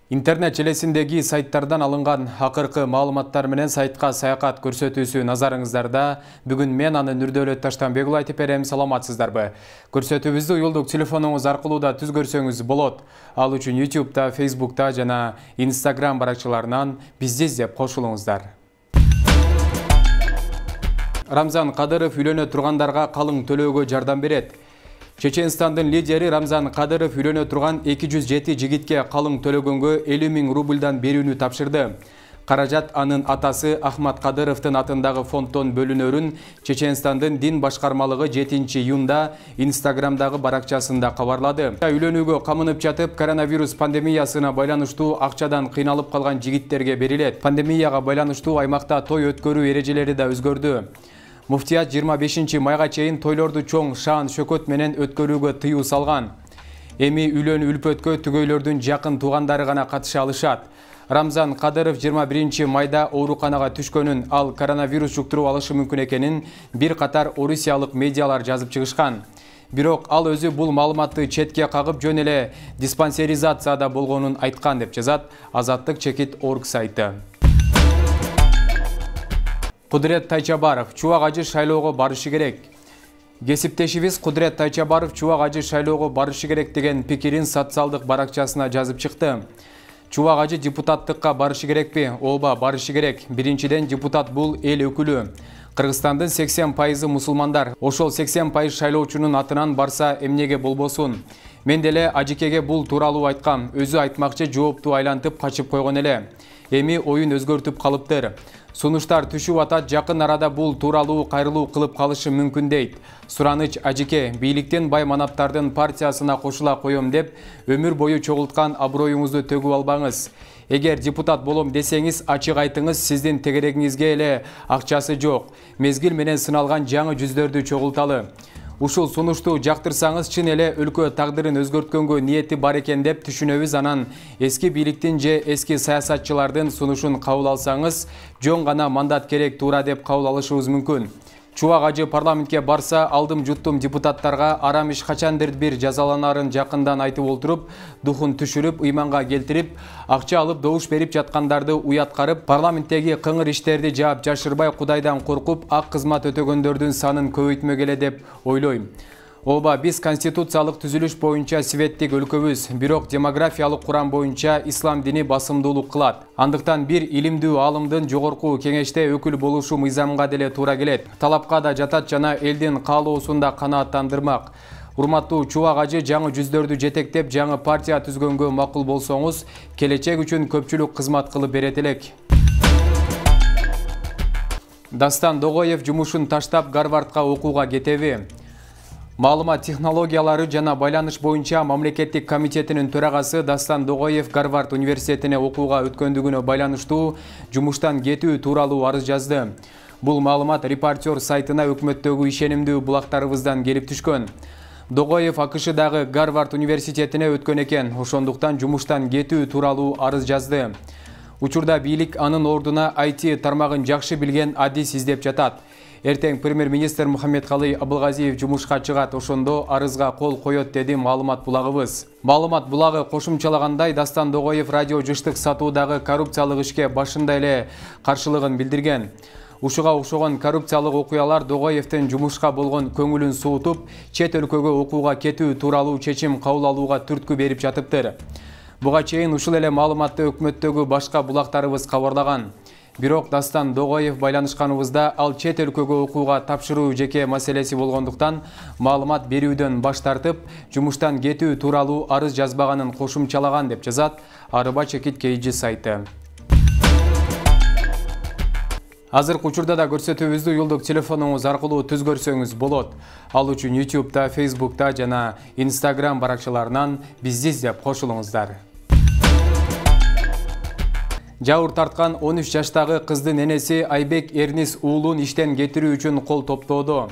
Интернет желесиндеги сайттардан алынган акыркы маалыматтар менен сайтка саякат көрсөтүүсү назарыңыздарда. Бүгүн мен аны Нурдөөлөт Таштанбек уулу айтып берем. Саламатсыздарбы? Көрсөтүүбүздү уюлдук телефонуңуз аркылуу да түз көрсөңүз болот. Ал үчүн YouTube'да, Facebook'та жана Instagram баракчаларынан бизди издеп кошулуңуздар. Рамзан Кадыров үйлөнө тургандарга калың төлөөгө жардам берет. Чеченстандын лидери Рамзан Кадыров үйлөнө турган 207 жигитке калың төлөгөнгө 50 000 рубльдан берүүнү тапшырды. Каражат анын атасы Ахмат Кадыровдун атындагы фонддон бөлүнөрүн Чеченстандын дин башкармалыгы 7 июнда Instagram'дагы баракчасында кабарлады. Үйлөнүүгө камынып жатып, коронавирус пандемиясына байланыштуу акчадан кыйналып калган жигиттерге берилет. Пандемияга байланыштуу аймакта той өткөрүү эрежелери да өзгөрдү. Муфтият 25 майга чейин тойлорду чоң шаан шөкөт менен өткөрүүгө тыюу салган. Эми үйлөнүү үлпөткө түгөйлөрдүн жакын туугандары гана катыша алышат. Рамзан Кадыров 21 майда ооруканага түшкөнүн, ал коронавирус жуктуруп алышы мүмкүн экенин бир катар орусиялык медиалар жазып чыгышкан. Бирок ал өзү бул маалыматты четке кагып, жөн эле диспансеризацияда болгонун айткан деп жазат Азаттык Чекит.org сайты. Кудурет Тайчабаров Чубак Ажы шайлоого барышы керек. Кесиптешибиз Кудурет Тайчабаров Чубак Ажы шайлоого барышы керек деген пикирин социалдык баракчасына жазып чыкты. Чубак Ажы депутаттыкка барышы керекпи? Ооба, барышы керек. Биринчиден, депутат бул эл өкүлү. Кыргызстандын 80% мусулмандар. Ошол 80% шайлоочунун атынан барса эмнеге болбосун? Мен деле Ажыкеге бул тууралуу айткам. Өзү айтмакчы, жоопту айлантып качып койгон эле. Эми оюн өзгөртүп калыптыр. Сунуштар түшүп атат, жакын арада бул тууралуу кайрылуу кылып калышы мүмкүн дейт. Сураныч Ажыке, бийликтен бай манаптардын партиясына кошула коем деп, өмүр бою чогулткан аброюңузду төгүп албаңыз. Эгер депутат болом десеңиз, ачык айтыңыз, сиздин тегерегиңизге эле акчасы жок. Мезгил менен сыналган жаңы жүздөрдү чогулталы. Ушул сунушту жактырсаңыз, чын эле өлкө тагдырын өзгөрткөнгө ниети бар экен деп түшүнөбүз. Анан эски бийликтин же эски саясатчылардын сунушун кабыл алсаңыз, жөн гана мандат керек туура деп кабыл алышыбыз мүмкүн. Чубак Ажы парламентке барса, алдым жуттум депутаттарга арам иш качандыр бир жазаланарын жакындан айтып олтуруп, духун түшүрүп, ыйманга келтирип, акча алып добуш берип жаткандарды уяткарып, парламенттеги кыңыр иштерди жаап жашырбай, Кудайдан коркуп, ак кызмат өтөгөндөрдүн санын көбөйтмөгөле деп ойлойм. Ооба, биз конституциялык түзүлүш боюнча светтик өлкөбүз, бирок демографиялык курам боюнча ислам дини басымдуулук кылат. Андыктан бир илимдүү аалымдын жогорку кеңеште өкүл болушу мыйзамга деле туура келет. Талапка да жатат жана элдин каалоосун да канааттандырмак. Урматтуу Чубак Ажы, жаңы жүздөрдү жетектеп, жаңы партия түзгөнгө макул болсоңуз, келечек үчүн көпчүлүк кызмат кылып берет элек. Дастан Догоев жумушун таштап Гарвардга окууга кетеби? Маалымат технологиялары жана байланыш боюнча мамлекеттик комитетинин төрагасы Дастан Догоев Гарвард университетине окууга өткөндүгүнө байланыштуу жумуштан кетүү тууралуу арыз жазды. Бул маалымат Репортер сайтына өкмөттөгү ишенимдүү булактарыбыздан келип түшкөн. Догоев АКШдагы Гарвард университетине өткөн экен, ошондуктан жумуштан кетүү тууралуу арыз жазды. Учурда бийлик анын ордуна IT тармагын жакшы билген адис издеп жатат. Эртең премьер-министр Мухаммедкалый Абылгазиев жумушка чыгат, ошондо арызга кол коет, деди маалымат булагыбыз. Маалымат булагы кошумчалагандай, Дастан Догоев радио жыштык сатуудагы коррупциялык ишке башында эле каршылыгын билдирген. Ушуга окшогон коррупциялык окуялар Догоевдин жумушка болгон көңүлүн суутуп, чет өлкөгө окууга кетүү тууралуу чечим кабыл алууга түрткү берип жатыптыр. Буга чейин ушул эле маалыматты өкмөттөгү башка булактарыбыз кабарлаган. Бирок Дастан Догоев байланышканыбызда, ал чет өлкөгө окууга тапшыруу жеке маселеси болгондуктан маалымат берүүдөн баш тартып, жумуштан кетүү тууралуу арыз жазбаганын кошумчалаган деп жазат Арыба Чекит KG сайты. Азыркы учурда да көрсөтүүбүздү уюлдук телефонуңуз аркылуу түз көрсөңүз болот. Ал үчүн YouTube'да, Facebook'та жана Instagram баракчаларынан бизди издеп кошулуңуздар. Жауыр тарткан 13 жаштагы кыздын энеси Айбек Эрнис уулун иштен кетирүү үчүн кол топтоодо.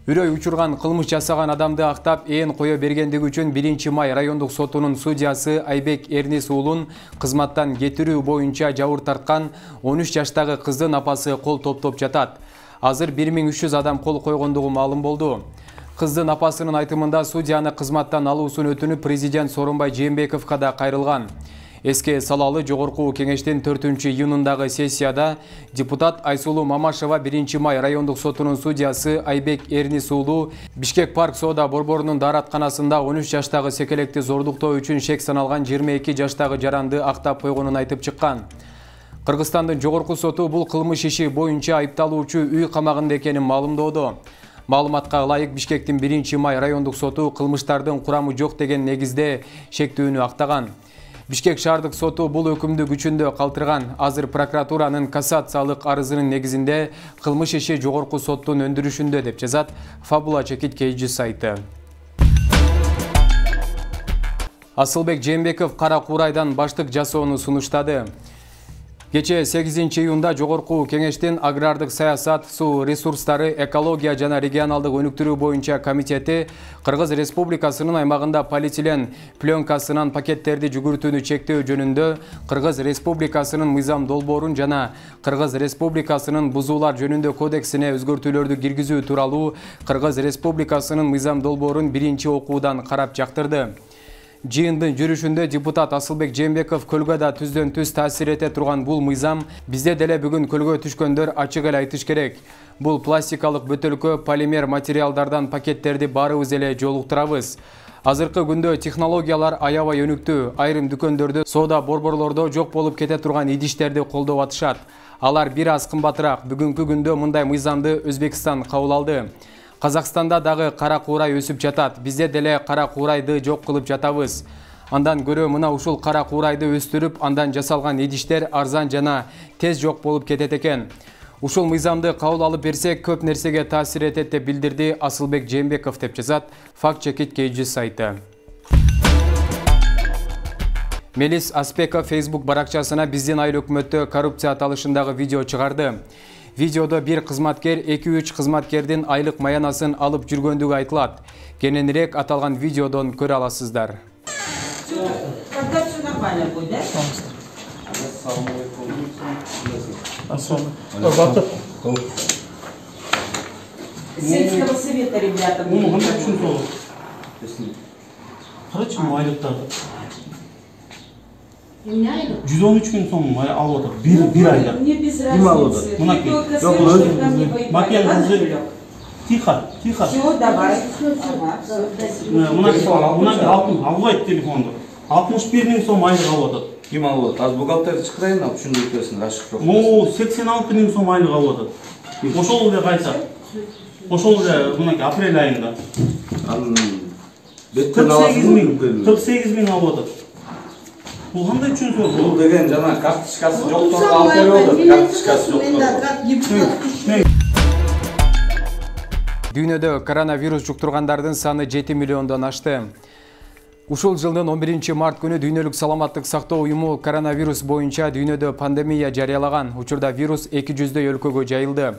Үрөй учурган кылмыш жасаган адамды актап ээн кое бергендиги үчүн 1 май райондук сотунун судьясы Айбек Эрнис уулун кызматтан кетирүү боюнча жауыр тарткан 13 жаштагы кыздын апасы кол топтоп жатат. Азыр 1300 адам кол койгондугу маалым болду. Кыздын апасынын айтымында судьяны кызматтан алуусун өтүнүп президент Сооронбай Жээнбековго да кайрылган. Эске салалы Жогорку кеңештин 4-июнундагы сессияда депутат Айсулуу Мамашева 1-май райондук сотунун судьясы Айбек Эрнис уулу Бишкек парк соода борборунун дааратканасында 13 жаштагы секелекти зордуктоо үчүн шек саналган 22 жаштагы жаранды актап койгонун айтып чыккан. Кыргызстандын жогорку соту бул кылмыш иши боюнча айыпталуучу үй камагында экенин маалымдоодо. Маалыматка ылайык Бишкектин 1-май райондук соту кылмыштардын курамы жок деген негизде шектүүнү актаган. Бишкек шаардык соту бул өкүмдү күчүндө калтырган. Азыр прокуратуранын кассациялык арызынын негизинде кылмыш иши жогорку соттун өндүрүшүндө деп жазат Фабула Чекит KG сайты. Асылбек Жээнбеков Кара Куурайдан баштык жасоону сунуштады. Кечээ 8-июнда Жогорку кеңештин агрардык саясат, суу ресурстары, экология жана регионалдык өнүктүрүү боюнча комитети Кыргыз Республикасынын аймагында полиэтилен пленкасынан пакеттерди жүгүртүүнү чектөө жөнүндө Кыргыз Республикасынын мыйзам долбоорун жана Кыргыз Республикасынын бузуулар жөнүндө кодексине өзгөртүүлөрдү киргизүү тууралуу Кыргыз Республикасынын мыйзам долбоорун биринчи окуудан карап жактырды. Жыйындын жүрүшүндө депутат Асылбек Жээнбеков көлгө да түздөн түз таасир эте турган бул мыйзам бизде деле бүгүн көлгө түшкөндөр ачык эле айтыш керек. Бул пластикалык бөтөлкө, полимер материалдардан пакеттерди баарыбыз эле жолуктурабыз. Азыркы күндө технологиялар аябай өнүктүү. Айрым дүкөндөрдө, соода борборлордо жок болуп кете турган идиштерди колдоп атышат. Алар бир аз кымбатыраак. Бүгүнкү күндө мындай мыйзамды Өзбекстан кабыл алды. Казакстанда дагы кара куурай өсүп жатат. Бизде деле кара куурайды жок кылып жатабыз. Андан көрө мына ушул кара куурайды өстүрүп, андан жасалган идиштер арзан жана тез жок болуп кетет экен. Ушул мыйзамды кабыл алып берсек, көп нерсеге таасир этет деп билдирди Асылбек Жээнбеков деп жазат Факт Чекит KG сайты. Мелис Аспеков Facebook баракчасына биздин айыл өкмөттө коррупция аталышындагы видео чыгарды. Видеодо бир кызматкер 2-3 кызматкердин айлык маянасын алып жүргөндүгү айтылат. Кененирээк аталган видеодон көрө аласыздар. Сельского совета, ребята. Короче, айлыктарды 113 күн соң алып отыр. Bir ayda. Мне без разницы. Тихо. Все, давай. Мына албайт телефонду. 61 миң сом айлык алып отыр. Ким алып отыр? Аз бухгалтерди чакырайын, ушунду өтөсүн ашык жок. 86 миң сом айлык алып отыр. Ошол эле кайса. Ошол эле мына апрель айында. 48 миң алып отыр. Бул кандай үчүн сор? Бул деген жана карточкасы жоктон алып берип карточкасы жоктон. Дүйнөдө коронавирус жуктургандардын саны 7 миллиондон ашты. Ушул жылдын 11 март күнү Дүйнөлүк саламаттык сактоо уюму коронавирус боюнча дүйнөдө пандемия жарыялаган. Учурда вирус 200 өлкөгө жайылды.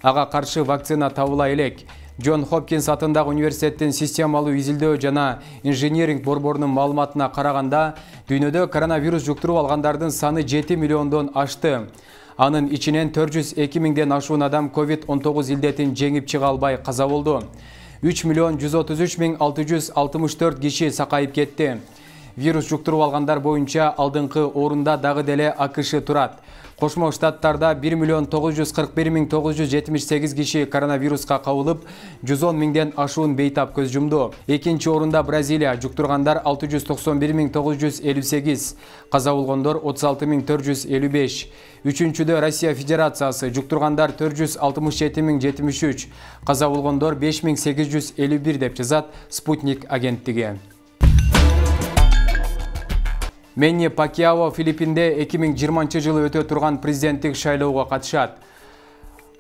Ага каршы вакцина табыла элек. Джон Хопкинс атындагы университеттин системалуу изилдөө жана инженеринг борборунун маалыматына караганда, дүйнөдө коронавирус жуктуруп алгандардын саны 7 миллиондон ашты. Анын ичинен 402 миңден ашуун адам COVID-19 илдетин жеңип чыга албай каза болду. 3 миллион 133 миң 664 киши сакайып кетти. Вирус жуктуруп алгандар боюнча алдыңкы орунда дагы деле АКШ турат. Кошмо Штаттарда 1 миллион 941 миң 978 киши коронавируска кабылып, 110 миңден ашуун бейтап көз жумду. Экинчи орунда Бразилия, жуктургандар 691 миң 958, каза болгондор 36 миң 455. Үчүнчүдө Россия Федерациясы, жуктургандар 467 миң 73, каза болгондор 5 миң 851 деп жазат Спутник агенттиги. Мэнни Пакьяо Филиппинде 2020 жылы өтө турган президенттик шайлоого катышат.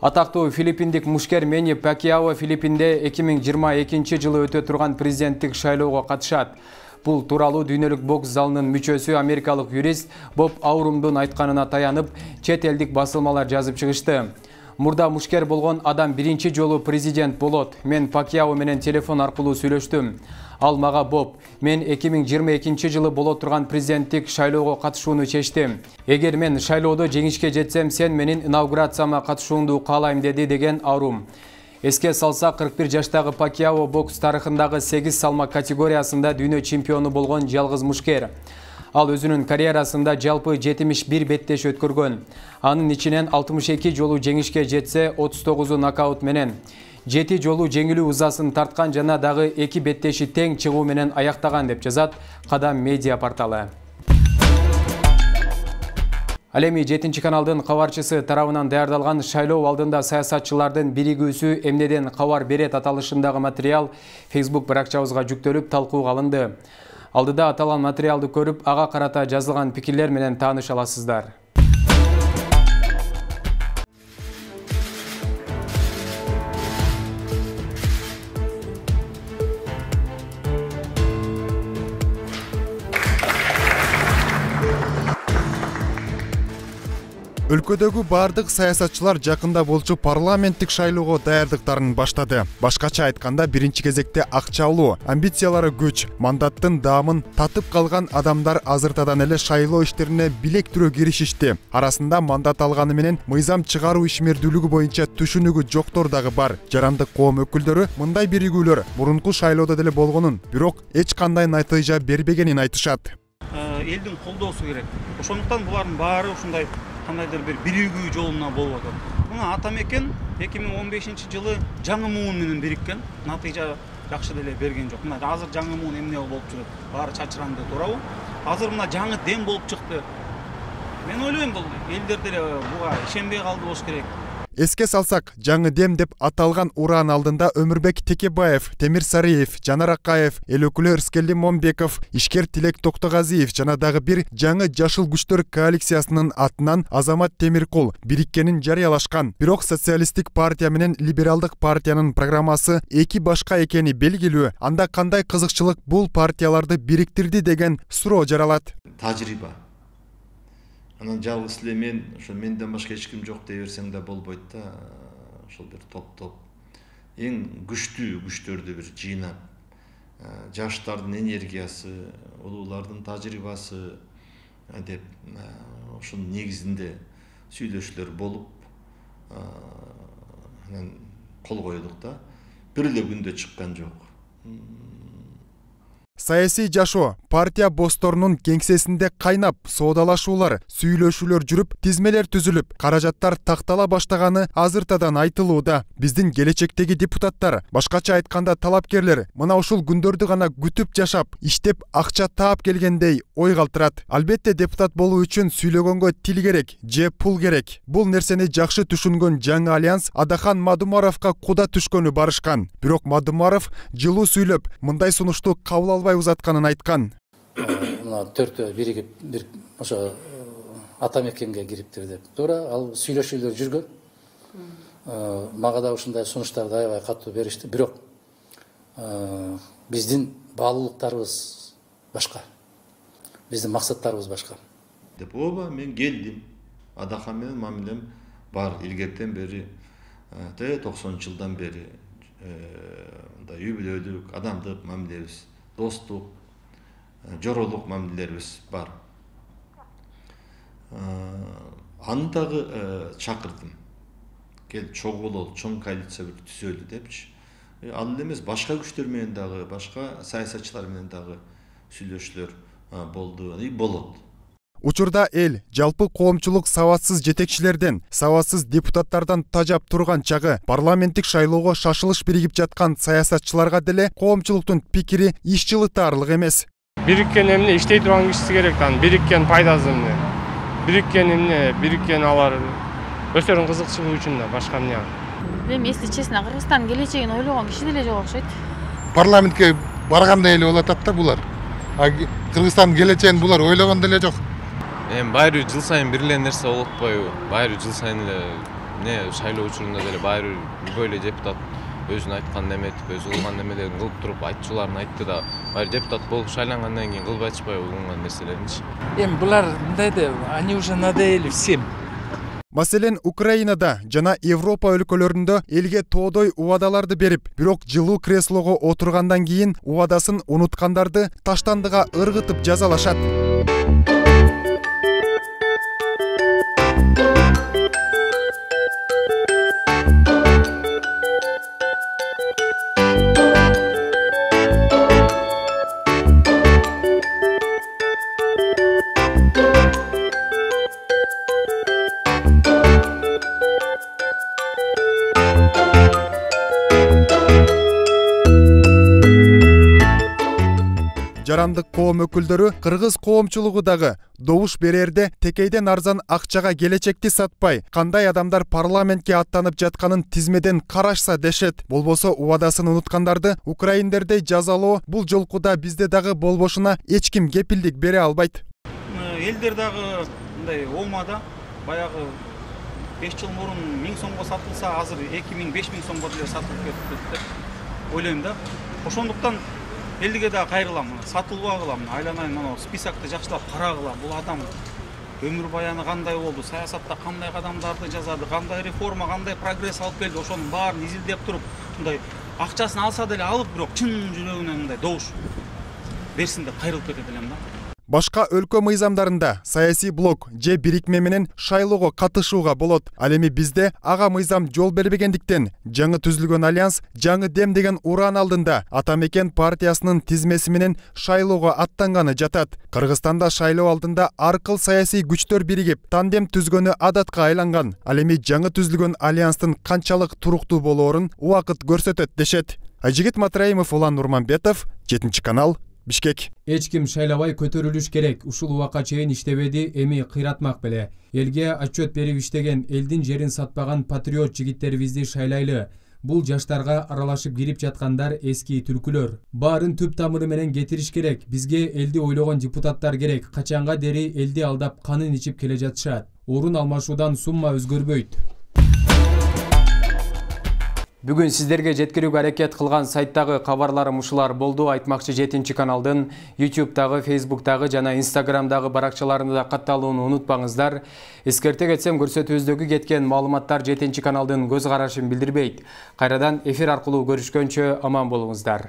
Атактуу филиппиндик мушкер Мэнни Пакьяо Филиппинде 2022 жылы өтө турган президенттик шайлоого катышат. Бул тууралуу дүйнөлүк бокс залынын мүчөсү америкалык юрист Боб Аурумдун айтканына таянып, чет элдик басылмалар жазып чыгышты. Мурда мушкер болгон адам биринчи жолу президент болот. Мен Пакьяо менен телефон аркылуу сүйлөштүм. Ал мага Боб, мен 2022 жылы боло турган президенттик шайлоого катышууну чечтим. Эгер мен шайлоодо жеңишке жетсем, сен менин инаугурацияма катышууңду каалайм деди деген Аурум. Эске салса, 41 жаштагы Пакьяо бокс тарыхындагы 8 салмак категориясында дүйнө чемпиону болгон жалгыз мушкер. Ал өзүнүн карьерасында жалпы 71 беттеш өткөргөн. Анын ичинен 62 жолу жеңишке жетсе, 39 нокаут менен, 7 жолу жеңилүү ызасын тарткан жана дагы 2 беттеши тең чыгуу менен аяктаган деп жазат Кадам медиа порталы. Ал эми 7 каналдын кабарчысы тарабынан даярдалган шайлоо алдында саясатчылардын биригүүсү эмнеден кабар берет аталышындагы материал Facebook баракчабызга жүктөлүп талкууга алынды. Алдыда аталган материалды көрүп, ага карата жазылган пикирлер менен тааныша аласыздар. Өлкөдөгү бардык саясатчылар жакында болчу парламенттик шайлоого даярдыктарын баштады. Башкача айтканда, биринчи кезекте акчалуу, амбициялары күч, мандаттын даамын татып калган адамдар азыртадан эле шайлоо иштерине билек түрө киришишти. Арасында мандат алганы менен мыйзам чыгаруу ишмердүүлүгү боюнча түшүнүгү жоктор дагы бар. Жарандык коом өкүлдөрү мындай биригүүлөр мурунку шайлоодо деле болгонун, бирок эч кандай натыйжа бербегенин айтышат. Элдин колдоосу керек. Ошондуктан булардын баары ушундай кандайдыр бир биригүү жолуна болуп атат. Мына Атамекен 2015-жылы жаңы муун менен бириккен, натыйжа жакшы деле берген жок. Мына азыр жаңы муун эмне болуп жүрөт? Баары чачыранды, туурабы? Азыр мына жаңы дем болуп чыкты. Мен ойлойм, бул элдер деле буга ишенбей калды болуш керек. Эске салсак, жаңы дем деп аталган ураан алдында Өмүрбек Текебаев, Темир Сариев, Жанар Акаев, эл өкүлү Ырыскелди Момбеков, ишкер Тилек Токтогазиев жана дагы бир жаңы жашыл күчтөр коалициясынын атынан Азамат Темиркул бириккенин жарыялашкан. Бирок социалисттик партия менен либералдык партиянын программасы эки башка экени белгилүү. Анда кандай кызыкчылык бул партияларды бириктирди деген суроо жаралат. Тажрыйба. Анан жалгыз эле мен, ошо менден башка эч ким жок дей берсең да болбойт да. Ошол бир топ эң күчтүү күчтөрдү бир жыйнап, жаштардын энергиясы, улуулардын тажрыйбасы деп ошонун негизинде сүйлөшүүлөр болуп, анан кол койдук да. Бир эле күндө чыккан жок. Саясий жашоо партия боссторунун кеңсесинде кайнап, соодалашуулар, сүйлөшүүлөр жүрүп, тизмелер түзүлүп, каражаттар тактала баштаганы азыртадан айтылууда. Биздин келечектеги депутаттар, башкача айтканда талапкерлер, мына ушул күндөрдү гана күтүп жашап, иштеп акча таап келгендей ой калтырат. Албетте депутат болуу үчүн сүйлөгөнгө тил керек, же пул керек. Бул нерсени жакшы түшүнгөн жаңы альянс Адахан Мадумаровго куда түшкөнү барышкан. Бирок Мадумаров жылуу сүйлөп, мындай сунушту кабыл албай узатканын айткан. Мына төртөө биригип бир ошо Атамекенге кириптир деп. Туура, ал сүйлөшүүлөр жүргөн. Мага да ушундай сунуштарды аябай катуу беришти. Бирок биздин баалуулуктарыбыз башка. Биздин максаттарыбыз башка. Деп ооба, мен келдим. Адахан менен мамилем бар илгертен бери, 90-жылдан бери үй бүлөлүк, адамдык мамилебиз, достук, жоролук мамилелерибиз бар. Аны дагы чакырдым. Кел чогулол, чоң коалиция түзөлү депчи. Ал эмес, башка күчтөр менен дагы, башка саясатчылар менен дагы сүйлөшүүлөр болду и болот. Учурда эл жалпы коомчулук сабатсыз жетекчилерден, сабатсыз депутаттардан тажап турган чагы, парламенттик шайлоого шашылыш биригип жаткан саясатчыларга деле коомчулуктун пикири иш жылытаарлык эмес. Бириккен эмне иштей турган кишиси керек, бириккен пайдасы эмне? Бириккен эмне? Бириккен алар өздөрүнүн кызыкчылыгы үчүн да, башка эмне? Мен если честно, Кыргызстандын келечегин ойлогон киши деле жок окшойт. Парламентке баргандай эле болуп атат да булар. Кыргызстандын келечегин булар ойлогон деле жок. Байыры жыл сайын бир эле нерсе болуп атпайбы? Байыры жыл сайын эле шайлоо учурунда деле байыры любой эле депутат өзүн айткан эметип, өзү кылган немелерин кылып туруп, айтчуларын айтты да, байыры депутат болуп шайлангандан кийин кылбай атышпайбы кылган нерселеринчи? Булар мындай да, они уже надоели всем. Маселен, Украинада жана Европа өлкөлөрүндө элге тоодой убадаларды берип, бирок жылуу креслого отургандан кийин убадасын унуткандарды таштандыга ыргытып жазалашат. жарандык коом өкүлдөрү кыргыз коомчулугу дагы добуш берерде текейден арзан акчага келечекти сатпай, кандай адамдар парламентке аттанып жатканын тизмеден карашса дешет. Болбосо убадасын унуткандарды украиндердей жазалоо бул жолкуда бизде дагы болбошуна эч ким кепилдик бере албайт. Элдер дагы мындай оомада баягы 5 жыл мурун 1000 сомго сатылса, азыр 2000-5000 сомго деле сатылып кетти деп ойлойм да. Ошондуктан элге да кайрылам, сатылбагыла, айланайын мына списокты жакшылап карагыла. Бул адам өмүр баяны кандай болду, саясатта кандай кадамдарды жасады, кандай реформа, кандай прогресс алып келди, ошонун баарын изилдеп туруп, мындай акчасын алса деле алып, бирок чын жүрөгүнөн мындай добуш берсин деп кайрылып кетет элем да. Башка өлкө мыйзамдарында саясий блок же бирикме менен шайлоого катышууга болот. Ал эми бизде ага мыйзам жол бербегендиктен жаңы түзүлгөн альянс жаңы дем деген уран алдында Атамекен партиясынын тизмеси менен шайлоого аттанганы жатат. Кыргызстанда шайлоо алдында ар кыл саясий күчтөр биригип тандем түзгөнү адатка айланган. Ал эми жаңы түзүлгөн альянстын канчалык туруктуу болоорун убакыт көрсөтөт дешет. Айжигит Матраимов, Улан Нурманбетов, 7 канал, Бишкек. Эч ким шайлабай көтөрүлүш керек. Ушул убакка чейин иштебеди, эми кыйратмак беле. Элге отчет берип иштеген, элдин жерин сатпаган патриот жигиттерибизди шайлайлы. Бул жаштарга аралашып кирип жаткандар эски түлкүлөр. Баарын түп тамыры менен кетириш керек. Бизге элди ойлогон депутаттар керек. Качанга дери элди алдап канын ичип келе жатышат. Орун алмашуудан сумма өзгөрбөйт. Бүгүн сиздерге жеткирүүгө аракет кылган сайттагы кабарларым ушулар болду. Айтмакчы 7 каналдын YouTube'дагы, Facebook'дагы жана Instagram'дагы баракчаларында катталууну унутпаңыздар. Эскерте кетсем, көрсөтүүбүздөгү кеткен маалыматтар 7 каналдын көз карашын билдирбейт. Кайрадан эфир аркылуу көрүшкөнчө аман болуңуздар.